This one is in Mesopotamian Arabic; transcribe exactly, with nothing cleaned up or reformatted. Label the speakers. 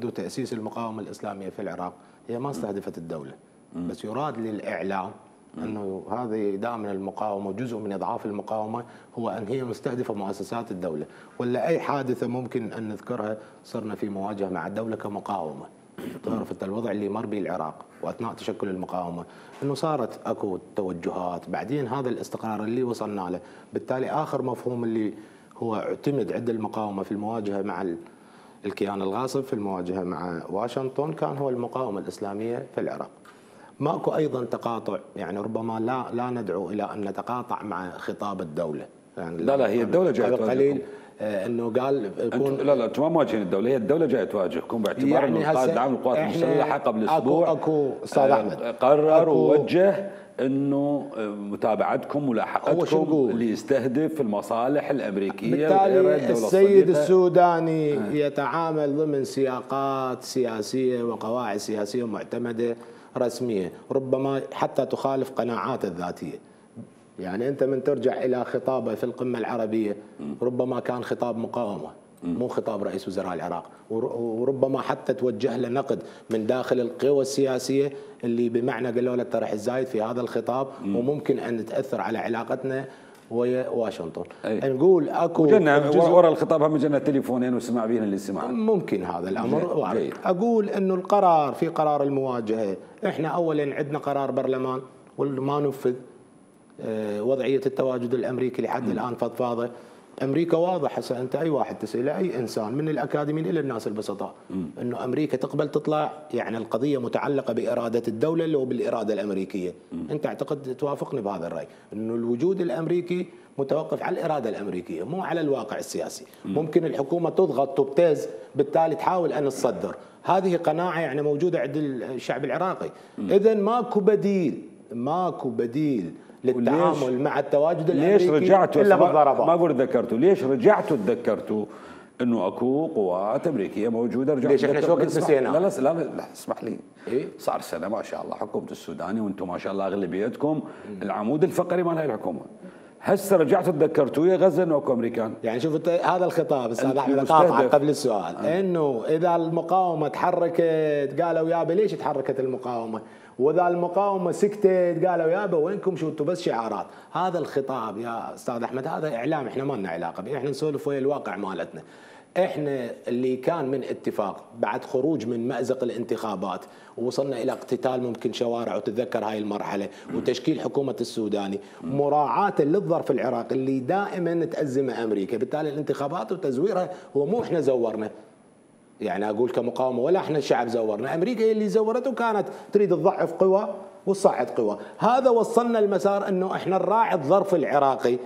Speaker 1: تأسيس المقاومة الإسلامية في العراق هي ما استهدفت الدولة، بس يراد للإعلام أنه هذه دائما المقاومة جزء من إضعاف المقاومة هو أن هي مستهدفة مؤسسات الدولة، ولا أي حادثة ممكن أن نذكرها صرنا في مواجهة مع الدولة كمقاومة. تعرف أنت الوضع اللي مر به العراق وأثناء تشكل المقاومة أنه صارت أكو توجهات، بعدين هذا الاستقرار اللي وصلنا له، بالتالي آخر مفهوم اللي هو اعتمد عند المقاومة في المواجهة مع الكيان الغاصب في المواجهة مع واشنطن كان هو المقاومة الإسلامية في العراق. ماكو أيضا تقاطع، يعني ربما لا لا ندعو إلى أن نتقاطع مع خطاب الدولة، يعني
Speaker 2: لا لا هي الدولة جاية
Speaker 1: قليل انه قال
Speaker 2: يكون لا لا انتم ما مواجهين الدوله، هي الدوله جايه تواجهكم باعتبار
Speaker 1: يعني
Speaker 2: انه القائد العام للقوات المسلحه قبل اسبوع
Speaker 1: اكو اكو استاذ احمد
Speaker 2: قرر ووجه انه متابعتكم ملاحقتكم اللي يستهدف المصالح الامريكيه.
Speaker 1: بالتالي السيد السوداني آه. يتعامل ضمن سياقات سياسيه وقواعد سياسيه معتمده رسميه، ربما حتى تخالف قناعاته الذاتيه. يعني أنت من ترجع إلى خطابه في القمة العربية ربما كان خطاب مقاومة مو خطاب رئيس وزراء العراق، وربما حتى توجه له نقد من داخل القوى السياسية اللي بمعنى قالوا له ترى الزايد في هذا الخطاب وممكن أن تأثر على علاقتنا ويا واشنطن. أي. نقول اكو
Speaker 2: ورا الخطاب هم جنا تليفونين وسمع بينا اللي سمع،
Speaker 1: ممكن هذا الامر. اقول انه القرار في قرار المواجهه، احنا اولا عندنا قرار برلمان وما نفذ، وضعية التواجد الأمريكي لحد الآن فضفاضة. أمريكا واضح، هسه أنت أي واحد تسأل أي إنسان من الأكاديميين إلى الناس البسطاء أنه أمريكا تقبل تطلع، يعني القضية متعلقة بإرادة الدولة اللي هو بالإرادة الأمريكية. أنت أعتقد توافقني بهذا الرأي أنه الوجود الأمريكي متوقف على الإرادة الأمريكية مو على الواقع السياسي. ممكن الحكومة تضغط تبتز بالتالي تحاول أن تصدر، هذه قناعة يعني موجودة عند الشعب العراقي. إذا ماكو بديل، ماكو بديل للتعامل مع التواجد الامريكي.
Speaker 2: ليش رجعتوا الا بالضربات؟ ما اقول ذكرتوا، ليش رجعتوا تذكرتوا انه اكو قوات امريكيه موجوده؟ رجعتوا
Speaker 1: ليش احنا شو وقت نسينا؟
Speaker 2: لا لا لا, لا اسمح لي. إيه؟ صار سنه ما شاء الله حكومه السوداني وانتم ما شاء الله اغلبيتكم العمود الفقري مال هاي الحكومه. هسه رجعتوا تذكرتوا يا غزه انه اكو امريكان.
Speaker 1: يعني شوف هذا الخطاب استاذ احمد قاطعك قبل السؤال آه. انه اذا المقاومه تحركت قالوا يابا ليش تحركت المقاومه؟ واذا المقاومه سكتت قالوا يابا وينكم شو انتم بس شعارات. هذا الخطاب يا استاذ احمد هذا اعلام، احنا ما لنا علاقه به، احنا نسولف ويا الواقع مالتنا. احنا اللي كان من اتفاق بعد خروج من مأزق الانتخابات ووصلنا الى اقتتال ممكن شوارع، وتتذكر هاي المرحله، وتشكيل حكومه السوداني مراعاه للظرف العراقي اللي دائما تأزمه امريكا، بالتالي الانتخابات وتزويرها هو مو احنا زورنا. يعني اقول كمقاومه ولا احنا الشعب زورنا، امريكا هي اللي زورته وكانت تريد تضعف قوى وتصعد قوى. هذا وصلنا المسار انه احنا نراعي الظرف العراقي.